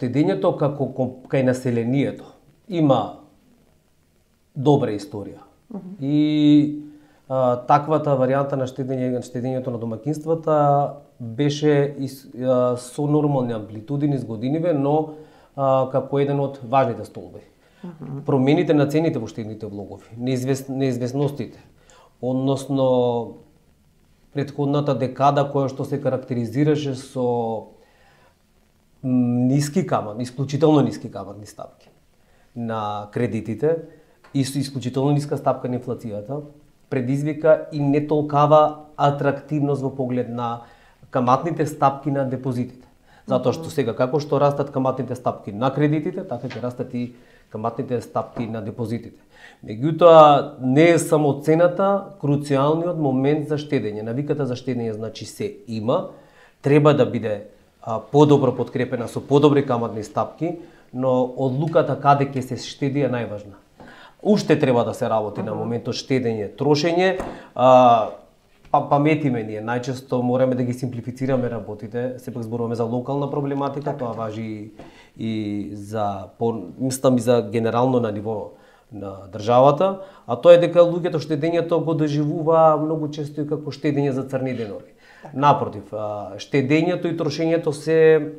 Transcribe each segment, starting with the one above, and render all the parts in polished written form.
штедењето кај населението има добра историја. И таквата варијанта на штедењето на домаќинствата беше со нормални амплитуди низ годиниве, но како еден од важните столбови. Промените на цените во штедните влогови, неизвестностите, односно претходната декада која што се карактеризираше со ниски каматни, исклучително ниски каматни стапки на кредитите и со исклучително ниска стапка на инфлацијата, предизвика и не толкава атрактивност во поглед на каматните стапки на депозитите. Затоа што сега како што растат каматните стапки на кредитите, така ќе растат и каматните стапки на депозитите. Меѓутоа, не е само цената круцијалниот момент за штедење. Навиката за штедење значи се има, треба да биде подобро подкрепена со подобри каматни стапки, но одлуката каде ќе се штеди е најважна. Уште треба да се работи на моментот штедење, трошење, паметиме ние, најчесто мораме да ги симплифицираме работите, сепак зборуваме за локална проблематика, тоа важи и за, мислам и за генерално на ниво на државата, а тоа е дека луѓето штедењето го доживува многу често и како штедење за црни денови. Напротив, штедењето и трошењето се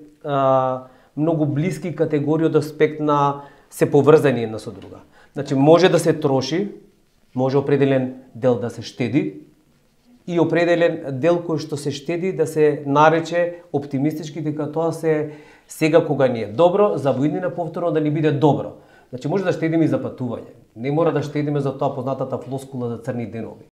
многу блиски категории од аспект на се поврзани една со друга. Значи, може да се троши, може определен дел да се штеди и определен дел кој што се штеди да се нарече оптимистички дека тоа се сега кога ни е добро, за воиднина повторно да ни биде добро. Значи, може да штедиме и за патување. Не мора да штедиме за тоа познатата флоскула за црни денови.